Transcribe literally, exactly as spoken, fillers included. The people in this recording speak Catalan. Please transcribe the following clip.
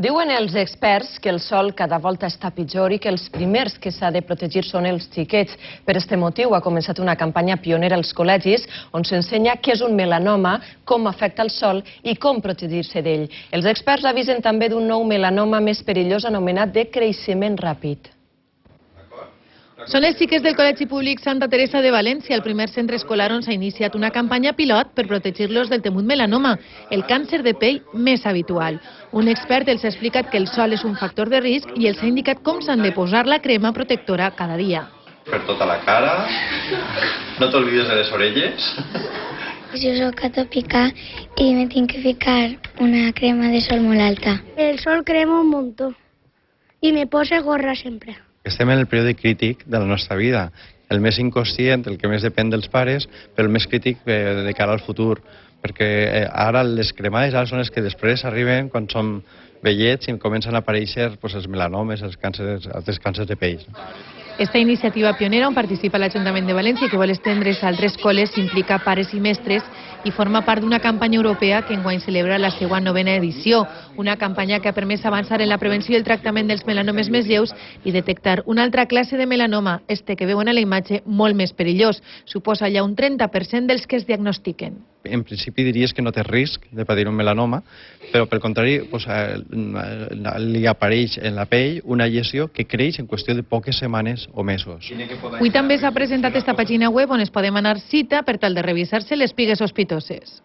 Diuen els experts que el sol cada volta està pitjor i que els primers que s'ha de protegir són els xiquets. Per aquest motiu ha començat una campanya pionera als col·legis on s'ensenya què és un melanoma, com afecta el sol i com protegir-se d'ell. Els experts avisen també d'un nou melanoma més perillós anomenat de creixement ràpid. Són els xiquets del Col·legi Públic Santa Teresa de València, el primer centre escolar on s'ha iniciat una campanya pilot per protegir-los del temut melanoma, el càncer de pell més habitual. Un expert els ha explicat que el sol és un factor de risc i els ha indicat com s'han de posar la crema protectora cada dia. Per tota la cara, no t'olvides de les orelles. Jo soc atòpica i me tinc que ficar una crema de sol molt alta. El sol crema un muntó i me posa gorra sempre. Estem en el període crític de la nostra vida, el més inconscient, el que més depèn dels pares, però el més crític de cara al futur, perquè ara les cremades ara són les que després arriben quan som vellets i comencen a aparèixer pues, els melanomes, els càncers, els càncers de pell. Esta iniciativa pionera on participa l'Ajuntament de València i que vol estendre's a altres col·les implica pares i mestres i forma part d'una campanya europea que enguany celebra la seva novena edició. Una campanya que ha permès avançar en la prevenció i el tractament dels melanomes més lleus i detectar una altra classe de melanoma, este que veuen a la imatge molt més perillós. Suposa ja un trenta per cent dels que es diagnostiquen. En principi diries que no té risc de patir un melanoma, però pel contrari pues, li apareix en la pell una lesió que creix en qüestió de poques setmanes o mesos. Avui també s'ha presentat esta pàgina web on es podem anar cita per tal de revisar-se les pigues sospitoses.